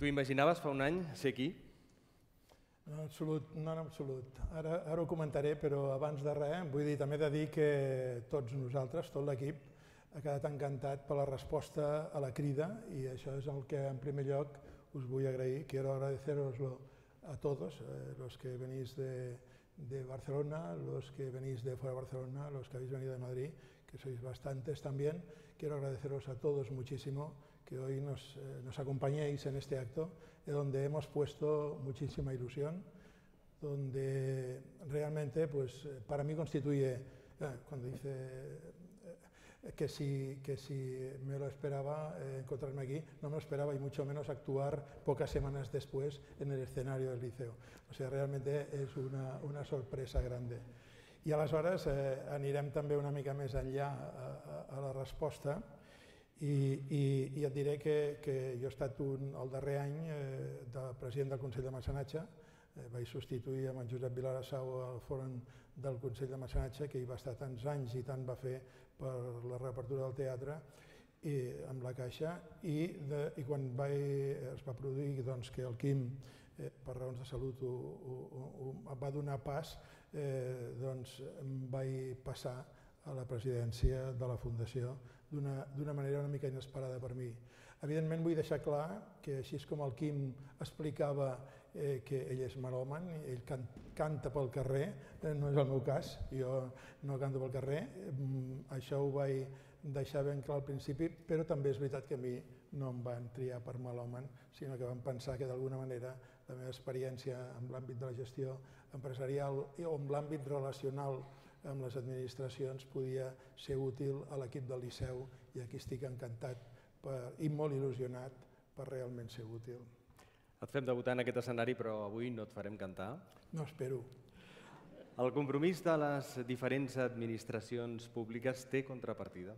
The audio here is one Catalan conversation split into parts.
Tu imaginaves fa un any ser aquí? No, en absolut. Ara ho comentaré, però abans de res vull dir, també he de dir que tots nosaltres, tot l'equip, ha quedat encantat per la resposta a la crida i això és el que en primer lloc us vull agrair. Quiero agradeceroslo a todos, los que venís de Barcelona, los que venís de fuera de Barcelona, los que habéis venido de Madrid, que sois bastantes también. Quiero agradeceros a todos muchísimo que hoy nos acompañéis en este acto, donde hemos puesto muchísima ilusión, donde realmente pues, para mí constituye, cuando dice que si me lo esperaba encontrarme aquí, no me lo esperaba y mucho menos actuar pocas semanas después en el escenario del Liceo. O sea, realmente és una sorpresa grande. I aleshores anirem també una mica més enllà a la resposta i et diré que jo he estat el darrer any de president del Consell de Mecenatge. Vaig substituir amb en Josep Vilarassau al Fòrum del Consell de Mecenatge, que hi va estar tants anys i tant va fer per la reapertura del teatre amb la Caixa, i quan es va produir que el Quim, per raons de salut, va donar pas, em vaig passar a la presidència de la Fundació d'una manera una mica inesperada per mi. Evidentment vull deixar clar que així com el Quim explicava que ell és melòman, ell canta pel carrer, no és el meu cas, jo no canto pel carrer, això ho vaig deixar ben clar al principi, però també és veritat que a mi no em van triar per melòman, sinó que van pensar que d'alguna manera la meva experiència en l'àmbit de la gestió empresarial o en l'àmbit relacional amb les administracions podia ser útil a l'equip del Liceu, i aquí estic encantat i molt il·lusionat per realment ser útil. Et fem debutar en aquest escenari, però avui no et farem cantar. No, espero. El compromís de les diferents administracions públiques té contrapartida?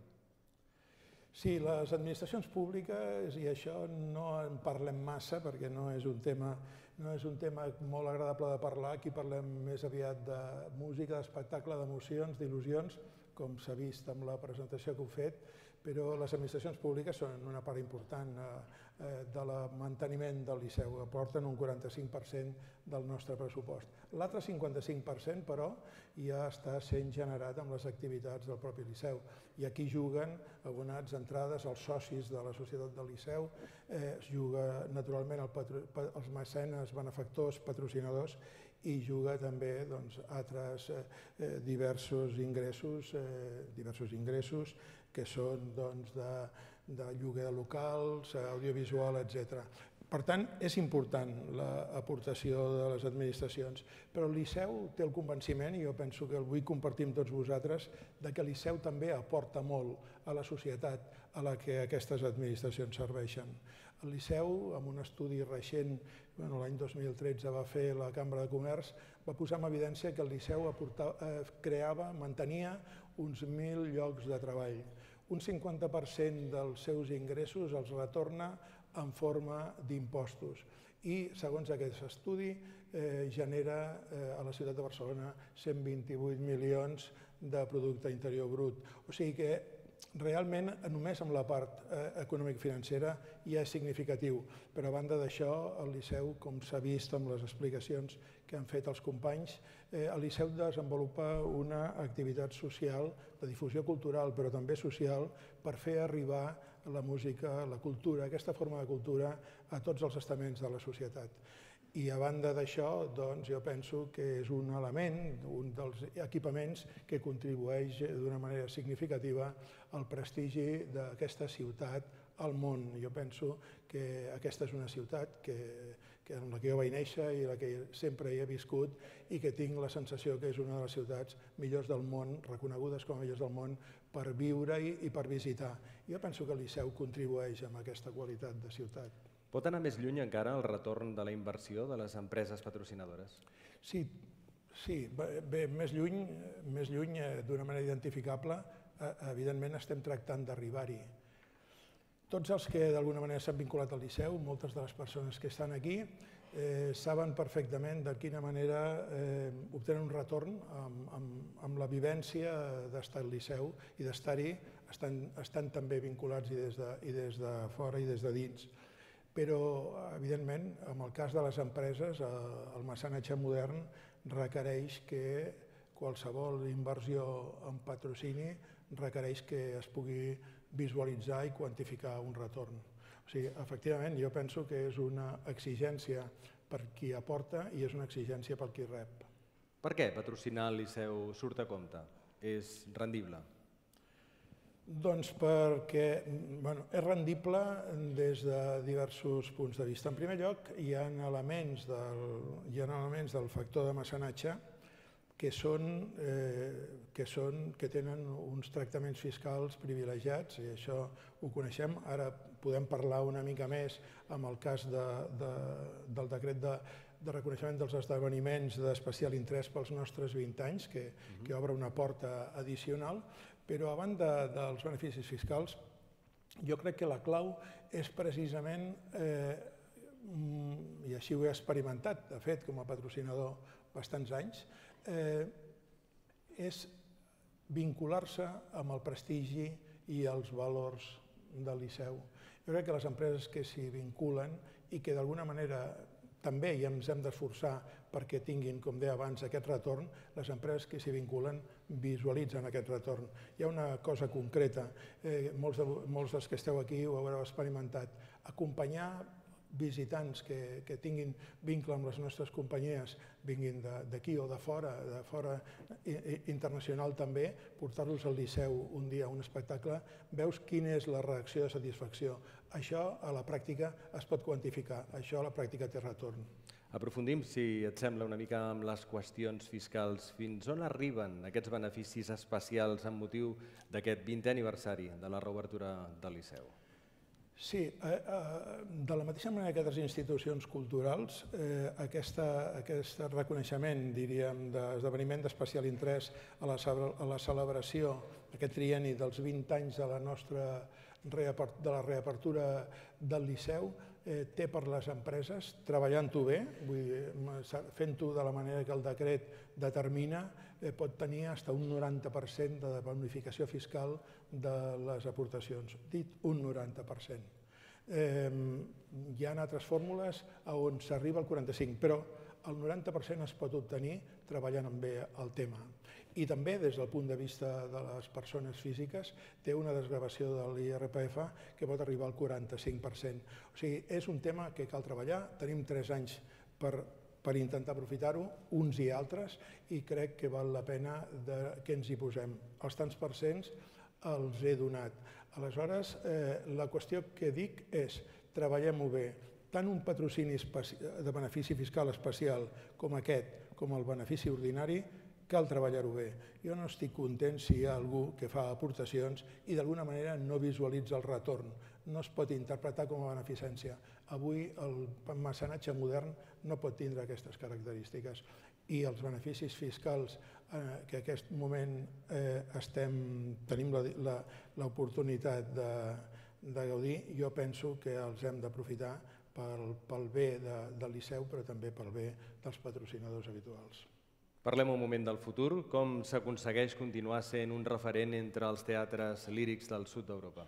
Sí, les administracions públiques, i això no en parlem massa perquè no és un tema molt agradable de parlar, aquí parlem més aviat de música, d'espectacle, d'emocions, d'il·lusions, com s'ha vist amb la presentació que heu fet, però les administracions públiques són una part important del manteniment del Liceu, aporten un 45% del nostre pressupost. L'altre 55%, però, ja està sent generat amb les activitats del propi Liceu, i aquí juguen abonats, entrades, els socis de la Societat del Liceu, es juga naturalment els mecenes, benefactors, patrocinadors, i juga també altres diversos ingressos que són de lloguer de locals, audiovisual, etc. Per tant, és important l'aportació de les administracions, però el Liceu té el convenciment, i jo penso que el vull compartir amb tots vosaltres, que el Liceu també aporta molt a la societat a la que aquestes administracions serveixen. El Liceu, amb un estudi recent, l'any 2013 va fer la Cambra de Comerç, va posar en evidència que el Liceu mantenia uns 1.000 llocs de treball. Un 50% dels seus ingressos els retorna en forma d'impostos i, segons aquest estudi, genera a la ciutat de Barcelona 128 milions de producte interior brut. O sigui que realment només amb la part econòmic-financera ja és significatiu, però a banda d'això el Liceu, com s'ha vist amb les explicacions que han fet els companys, el Liceu desenvolupa una activitat social de difusió cultural, però també social, per fer arribar la música, la cultura, aquesta forma de cultura a tots els estaments de la societat. I a banda d'això, jo penso que és un element, un dels equipaments que contribueix d'una manera significativa al prestigi d'aquesta ciutat al món. Jo penso que aquesta és una ciutat en la que jo vaig néixer i en la que sempre hi he viscut i que tinc la sensació que és una de les ciutats millors del món, reconegudes com a millors del món, per viure-hi i per visitar. Jo penso que el Liceu contribueix amb aquesta qualitat de ciutat. Pot anar més lluny encara el retorn de la inversió de les empreses patrocinadores? Sí, bé, més lluny d'una manera identificable, evidentment estem tractant d'arribar-hi. Tots els que d'alguna manera s'han vinculat al Liceu, moltes de les persones que estan aquí, saben perfectament de quina manera obtenen un retorn amb la vivència d'estar al Liceu i d'estar-hi, estan també vinculats i des de fora i des de dins. Però, evidentment, en el cas de les empreses, el mecenatge modern requereix que qualsevol inversió en patrocini requereix que es pugui visualitzar i quantificar un retorn. O sigui, efectivament, jo penso que és una exigència per qui aporta i és una exigència per qui rep. Per què patrocinar el Liceu surt a compte? És rendible? Doncs perquè és rendible des de diversos punts de vista. En primer lloc, hi ha elements del factor de mecenatge que tenen uns tractaments fiscals privilegiats, i això ho coneixem. Ara podem parlar una mica més amb el cas del decret de reconeixement dels esdeveniments d'especial interès pels nostres 20 anys, que obre una porta addicional, però a banda dels beneficis fiscals, jo crec que la clau és precisament, i així ho he experimentat, de fet, com a patrocinador bastants anys, és vincular-se amb el prestigi i els valors del Liceu. Jo crec que les empreses que s'hi vinculen i que d'alguna manera també hi ens hem d'esforçar perquè tinguin, com deia abans, aquest retorn, les empreses que s'hi vinculen visualitzen aquest retorn. Hi ha una cosa concreta, molts dels que esteu aquí ho haureu experimentat, acompanyar visitants que tinguin vincle amb les nostres companyies, vinguin d'aquí o de fora internacional també, portar-los al Liceu un dia a un espectacle, veus quina és la reacció de satisfacció. Això a la pràctica es pot quantificar, això a la pràctica té retorn. Aprofundim, si et sembla, una mica amb les qüestions fiscals. Fins on arriben aquests beneficis especials amb motiu d'aquest 20è aniversari de la reobertura del Liceu? Sí, de la mateixa manera que altres institucions culturals, aquest reconeixement, diríem, d'esdeveniment d'especial interès a la celebració, aquest trienni dels 20 anys de la reapertura del Liceu, té per les empreses, treballant-ho bé, fent-ho de la manera que el decret determina, pot tenir fins a un 90% de bonificació fiscal de les aportacions. Dit un 90%. Hi ha altres fórmules on s'arriba al 45%, però el 90% es pot obtenir treballant bé el tema. I també, des del punt de vista de les persones físiques, té una desgravació de l'IRPF que pot arribar al 45%. O sigui, és un tema que cal treballar. Tenim 3 anys per intentar aprofitar-ho, uns i altres, i crec que val la pena que ens hi posem. Els tants percents els he donat. Aleshores, la qüestió que dic és treballem-ho bé. Tant un patrocini de benefici fiscal especial com aquest, com el benefici ordinari, cal treballar-ho bé. Jo no estic content si hi ha algú que fa aportacions i d'alguna manera no visualitza el retorn. No es pot interpretar com a beneficència. Avui el mecenatge modern no pot tindre aquestes característiques i els beneficis fiscals que en aquest moment tenim l'oportunitat de gaudir, jo penso que els hem d'aprofitar pel bé del Liceu, però també pel bé dels patrocinadors habituals. Parlem un moment del futur. Com s'aconsegueix continuar sent un referent entre els teatres lírics del sud d'Europa?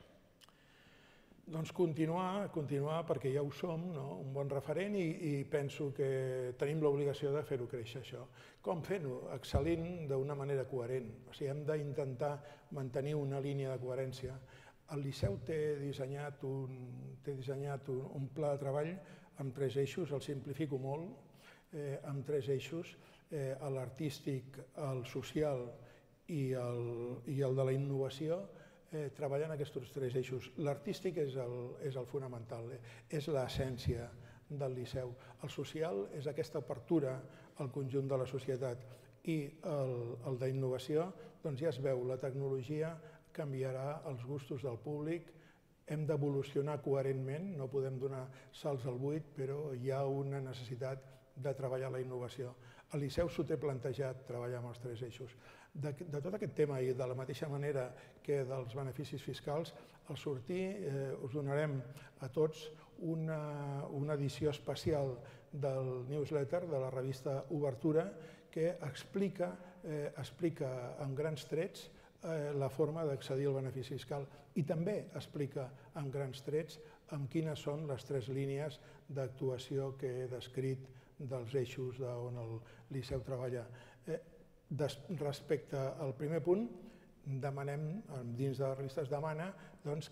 Doncs continuar perquè ja ho som, un bon referent, i penso que tenim l'obligació de fer-ho créixer, això. Com fent-ho? Excel·lint d'una manera coherent. O sigui, hem d'intentar mantenir una línia de coherència. El Liceu té dissenyat un pla de treball amb 3 eixos, el simplifico molt, amb 3 eixos, l'artístic, el social i el de la innovació, treballant aquests 3 eixos. L'artístic és el fonamental, és l'essència del Liceu. El social és aquesta apertura al conjunt de la societat i el d'innovació, doncs ja es veu, la tecnologia canviarà els gustos del públic, hem d'evolucionar coherentment, no podem donar salts al buit, però hi ha una necessitat de treballar la innovació. El Liceu s'ho té plantejat treballar amb els 3 eixos. De tot aquest tema i de la mateixa manera que dels beneficis fiscals, al sortir us donarem a tots una edició especial del newsletter de la revista Obertura que explica en grans trets la forma d'accedir al benefici fiscal i també explica en grans trets amb quines són les 3 línies d'actuació que he descrit dels eixos on el Liceu treballa. Respecte al primer punt, demanem, dins de la revista es demana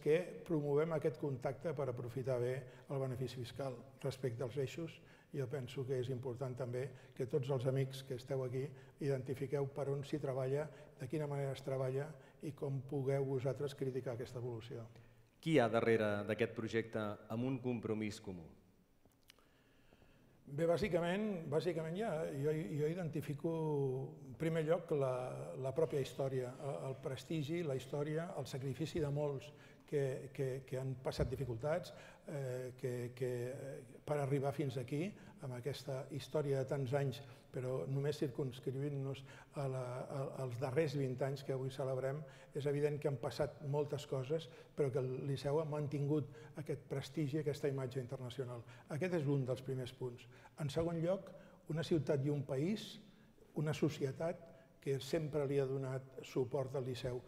que promovem aquest contacte per aprofitar bé el benefici fiscal. Respecte als eixos, jo penso que és important també que tots els amics que esteu aquí identifiqueu per on s'hi treballa, de quina manera es treballa i com pugueu vosaltres criticar aquesta evolució. Qui hi ha darrere d'aquest projecte amb un compromís comú? Bé, bàsicament jo identifico en primer lloc la pròpia història, el prestigi, la història, el sacrifici de molts que han passat dificultats per arribar fins aquí, amb aquesta història de tants anys, però només circumscrivint-nos als darrers 20 anys que avui celebrem, és evident que han passat moltes coses, però que el Liceu ha mantingut aquest prestigi, aquesta imatge internacional. Aquest és un dels primers punts. En segon lloc, una ciutat i un país, una societat que sempre li ha donat suport al Liceu.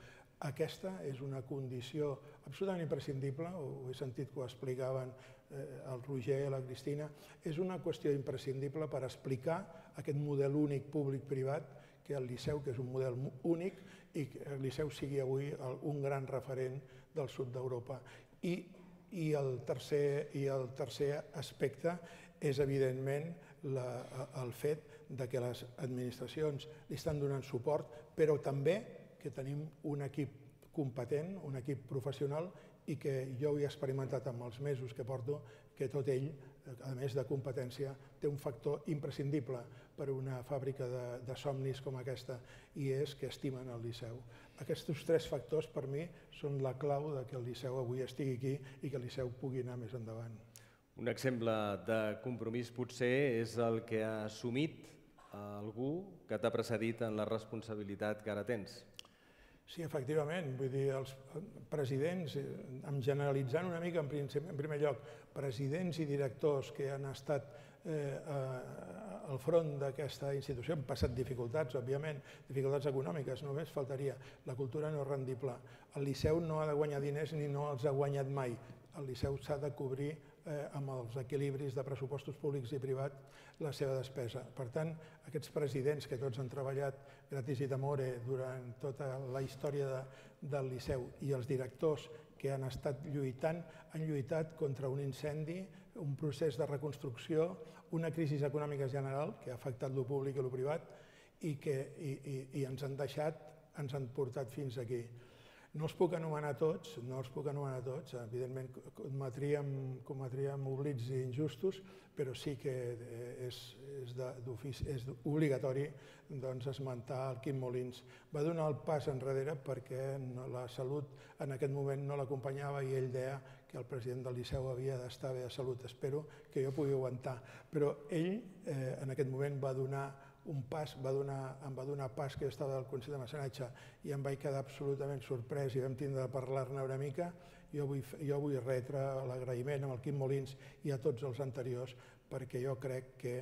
Aquesta és una condició absolutament imprescindible, ho he sentit que ho explicaven el Roger i la Cristina, és una qüestió imprescindible per explicar aquest model únic públic-privat, que el Liceu, que és un model únic, i que el Liceu sigui avui un gran referent del sud d'Europa. I el tercer aspecte és, evidentment, el fet que les administracions li estan donant suport, però també que tenim un equip competent, un equip professional, i que jo ho he experimentat amb els mesos que porto, que tot ell, a més de competència, té un factor imprescindible per a una fàbrica de somnis com aquesta, i és que estimen el Liceu. Aquests 3 factors, per mi, són la clau que el Liceu avui estigui aquí i que el Liceu pugui anar més endavant. Un exemple de compromís potser és el que ha assumit algú que t'ha precedit en la responsabilitat que ara tens. Sí, efectivament, vull dir, els presidents, generalitzant una mica, en primer lloc, presidents i directors que han estat al front d'aquesta institució, han passat dificultats, òbviament, dificultats econòmiques, només faltaria. La cultura no és rendible. El Liceu no ha de guanyar diners ni no els ha guanyat mai. El Liceu s'ha de cobrir amb els equilibris de pressupostos públics i privats la seva despesa. Per tant, aquests presidents que tots han treballat gratis i d'amore durant tota la història del Liceu i els directors que han estat lluitant, han lluitat contra un incendi, un procés de reconstrucció, una crisi econòmica general que ha afectat lo públic i lo privat i ens han deixat, ens han portat fins aquí. No els puc anomenar tots, evidentment cometríem oblits injustos, però sí que és obligatori esmentar el Quim Molins. Va donar el pas enrere perquè la salut en aquest moment no l'acompanyava i ell deia que el president del Liceu havia d'estar bé de salut. Espero que jo pugui aguantar. Però ell en aquest moment va donar un pas, em va donar pas que jo estava al Consell de Mecenatge i em vaig quedar absolutament sorprès i vam tindre de parlar-ne una mica. Jo vull retre l'agraïment amb el Quim Molins i a tots els anteriors perquè jo crec que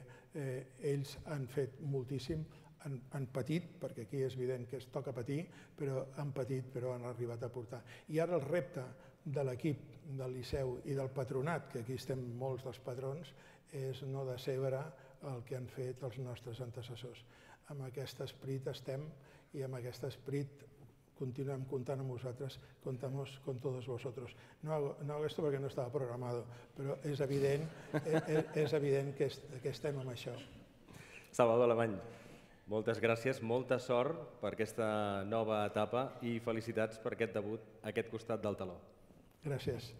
ells han fet moltíssim, han patit, perquè aquí és evident que es toca patir, però han patit, però han arribat a portar. I ara el repte de l'equip del Liceu i del patronat, que aquí estem molts dels patrons, és no decebre el que han fet els nostres antecessors. Amb aquest esperit estem i amb aquest esperit continuem comptant amb vosaltres, contamos con todos vosotros. No hago esto porque no estaba programado, però és evident que estem amb això. Salvador Alemany, moltes gràcies, molta sort per aquesta nova etapa i felicitats per aquest debut a aquest costat del teló. Gràcies.